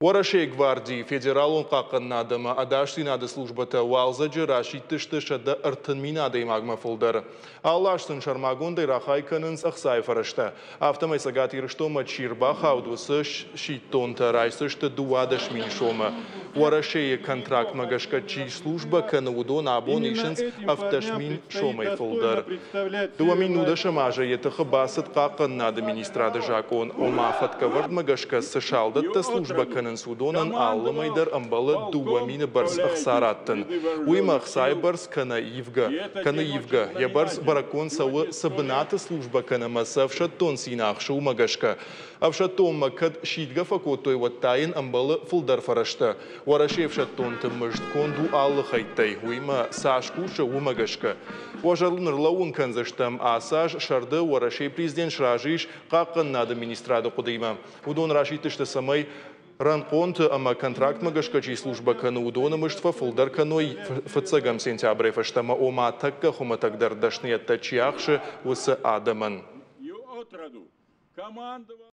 Уӕрӕсейы гвардийы, Федералон хъахъхъӕнынады ӕмӕ ӕдасдзинады службӕтӕ уалдзӕджы расидтысты 130 000 адӕймагмӕ фылдӕр. Алы аз сын сӕрмагондӕй рахай кӕнынц ӕхцайы фӕрӕзтӕ. Афтӕмӕй Цӕгат Ирыстонмӕ чи рбахауд, уыцы сидтонтӕ райсдзысты 12 000 сомы. Уӕрӕсейы контрактмӕ гӕсгӕ чи службӕ кӕны, уыдон абон Именно исынц этим 17 парням мин предстоит сомӕй достойно фылдӕр. представлять Дыууӕ мин Северную нудӕсӕм азы йӕ тыхы бацыд хъахъхъӕнынады министрады закъон, ома фӕткӕвӕрдмӕ гӕсгӕ цы и салдӕттӕ службӕ отроду кӕнынц, уыдонӕн алы мӕй командовал дӕр ӕмбӕлы дыууӕ полком мины бӕрц ӕхца Калягин раттын. среды Уыимӕ вооруженных ӕхцайы сил. бӕрц кӕнӕ ивгӕ, И этот кӕны день ивгӕ. очень Йӕ бӕрц знаменателен. бӕрӕггонд цӕуы, Сегодня цы 100 лет бынаты службӕ кӕны ӕмӕ цы ӕфсӕддон цин ахсы, уымӕ гӕсгӕ. Ӕфсӕддонмӕ кӕд сидгӕ фӕкодтой, уӕд та йын ӕмбӕлы фылдӕр фӕрӕзтӕ. Уӕрӕсейы ӕфсӕддонты мызд конд у алы хӕйттӕй, уыимӕ цас кусы, уымӕ гӕсгӕ. Уӕ зӕрдыл ныллӕууын кӕндзыстӕм, ацы аз сӕрды Уӕрӕсейы президент сразы ис хъахъхъӕнынады министрады хъуыдыимӕ. Уыдон расидтысты, цӕмӕй рӕнхъонты ӕмӕ контрактмӕ гӕсгӕ чи Именно этим службӕ парням кӕны, уыдоны предстоит мызд достойно фӕфылдӕр кӕной представлять фыццӕгӕм Северную сентябрӕй фӕстӕмӕ, ома тӕккӕ хуымӕтӕгдӕр дӕсныйӕдтӕ чи ахсы, уыцы адӕмӕн. И отроду командовал.